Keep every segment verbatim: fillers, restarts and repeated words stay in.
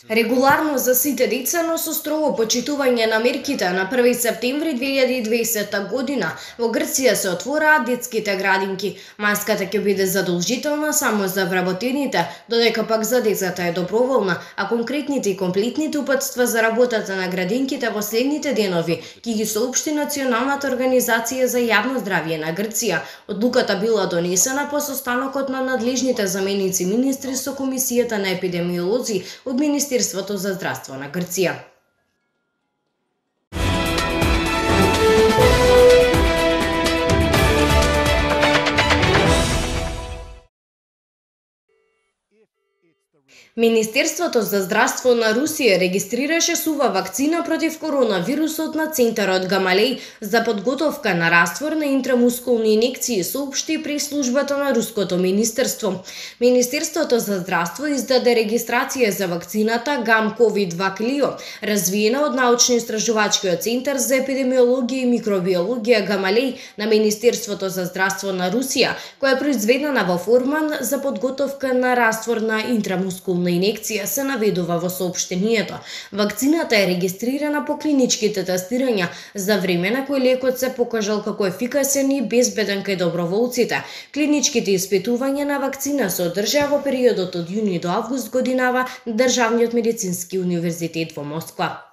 Регуларно за сите деца, но со строго почитување на мерките, на први септември две илјади и дваесетта година во Грција се отвораат детските градинки. Маската ќе биде задолжителна само за вработените, додека пак за децата е доброволна, а конкретните и комплетните упатства за работата на градинките во следните денови ќе ги соопшти Националната организација за јавно здравје на Грција. Одлуката била донесена по состанокот на надлежните заменици министри со Комисијата на епидемиолози од Министерството за здравство на Грција. Министерството за здравство на Русија регистрираше сува вакцина против коронавирусот на Центарот Гамалеј за подготовка на раствор на интрамускулни инекции, соопшти прес-службата на Руското министерство. Министерството за здравство издаде регистрација за вакцината Гам-ковид два Клио, развиена од научно-истражувачкиот центар за епидемиологија и микробиологија Гамалеј на Министерството за здравство на Русија, која е произведена во форман за подготовка на раствор на интрамускулна инекција, се наведува во соопштението. Вакцината е регистрирана по клиничките тестирања за време на кој лекот се покажал како ефикасен и безбеден кај доброволците. Клиничките испитувања на вакцина се одржаа во периодот од јуни до август годинава на Државниот медицински универзитет во Москва.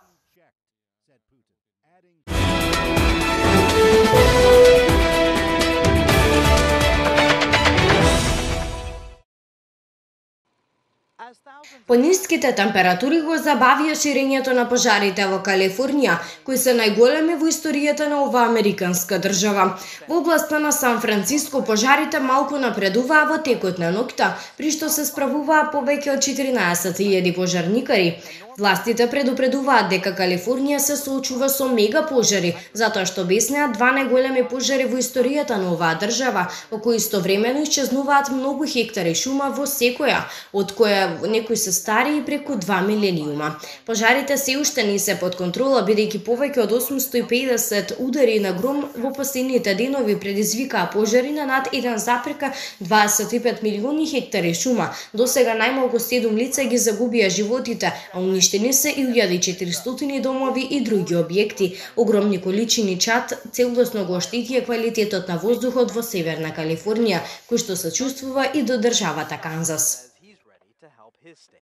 Пониските температури го забавија ширењето на пожарите во Калифорнија, кои се најголеми во историјата на оваа американска држава. Во областа на Сан Франциско пожарите малку напредуваа во текот на ноќта, при што се справуваа повеќе од четиринаесет илјади пожарникари. Властите предупредуваат дека Калифорнија се соочува со мега пожари, затоа што обяснеа два најголеми пожари во историјата на оваа држава, во кои истовремено исчезнуваат многу хектари шума во секоја, од која некои се стари и преку два милениума. Пожарите се уште не се под контрола, бидејќи повеќе од осумсто и педесет удари на гром во последните денови предизвикаа пожари на над еден запирка дваесет и пет милиони хектари шума. Досега најмалку седум лица ги загубија животите, а уништени се илјада и четиристотини домови и други објекти. Огромни количини чад целосно го оштетија квалитетот на воздухот во Северна Калифорнија, кој што се чувствува и до државата Канзас.